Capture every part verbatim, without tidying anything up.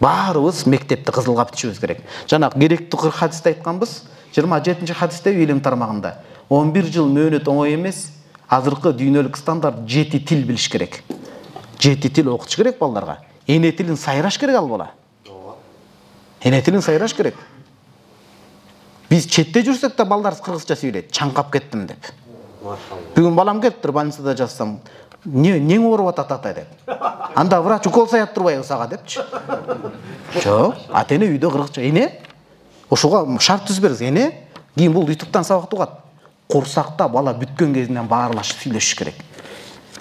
Баарыбыз мектепти кызылга бүтүшүбүз керек. Жана керектүү кырк хадисте айтканбыз, жыйырма жетинчи хадисте илим тармагында он бир жыл мөөнөт оңой эмес. Азыркы дүйнөлүк стандарт жети тил билиш керек. жети тил окутуш керек балдарга. Эне тилин сайраш керек ал бала. Эне тилин сайраш керек. Биз четте жүрсөк да балдар кыргызча сүйлөйт. Чаңкап кеттим деп. Бүгүн балам келиптир, больницада жатсам, не нең ооруп атат ата деп. Анда врач укол саят турбайбы сага депчи. Жок, ата эне үйдө кыргызча. Эне ошого шарт түзбөңүз. Эне кийин бул ютубтан сабак угат. Курсакта бала бүткөн кезинен баарлашып сүйлөшүш керек.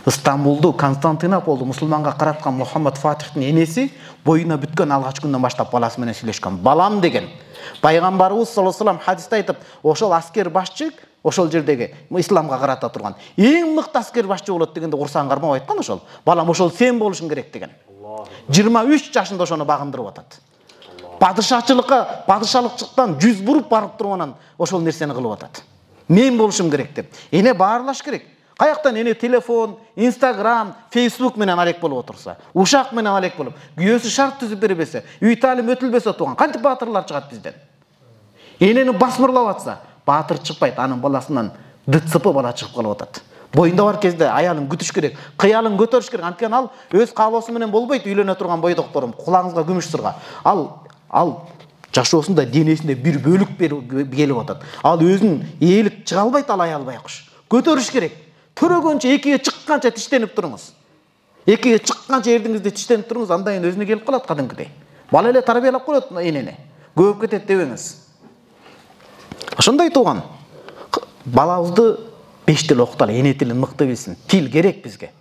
Стамбулду, Константинополду мусулманга караткан Мухаммад Фатихтин энеси боюна бүткөн алгач күндөн баштап баласы менен сүйлөшкөн. Балам деген. Пайгамбарыбыз саллаллаху алейхи ва саллям хадисте айтып, ошол аскер башчы ошол жердеги исламга карата турган эң мыкты аскер башчы болот дегенде курсагын кармап айткан ошол. Балам ошол сен болушуң керек деген. жыйырма үч жашында ошону багындырып атат. Падышачылыкка, падышалыкчыктан жүз буруп барып туруп анан ошол нерсени кылып атат. Мен болушум керек деп. Эне баарлаш керек. Каяктан эне телефон, Instagram, Facebook менен алек болуп отурса, ушак менен алек болуп, күйөөсү шарт түзүп бербесе, үй таалим өтүлбөсө туган кантип баатырлар чыгат бизден? Энени басмырлап атса, баатыр чыкпайт, анын баласынан ДЦП бала чыгып калып атат. Боюнда бар кезде аялын күтүш керек, кыялын көтөрүш керек. Анткени ал өз каалоосу менен болбойт, үйлөнө турган бойдокторум, кулагыңызга күмүш сырга. Ал ал жашоосунда денесинде бир бөлүк келип атат. Ал өзүнүн ээлик чыга албайт, ал аял байкуш. Көтөрүш керек. Төрөгөнчө экиге чыкканча тиштенип туруңуз. Экиге чыкканча эрдиңизди тиштенип туруңуз, андан кийин өзүнө келип калат кадимкидей. Бала эле тарбиялап коет энени. Көп кетет дебеңиз. Ошондой тууган. Балабызды беш тил окуталы, эне тилин мыкты билсин. Тил керек бизге.